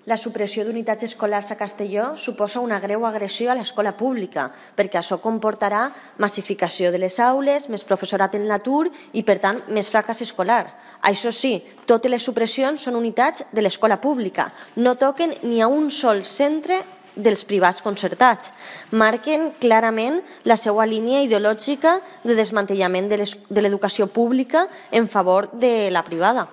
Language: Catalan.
La supressió d'unitats escolars a Castelló suposa una greu agressió a l'escola pública, perquè això comportarà massificació de les aules, més professorat en l'atur i, per tant, més fracàs escolar. Això sí, totes les supressions són unitats de l'escola pública. No toquen ni a un sol centre dels privats concertats. Marquen clarament la seva línia ideològica de desmantellament de l'educació pública en favor de la privada.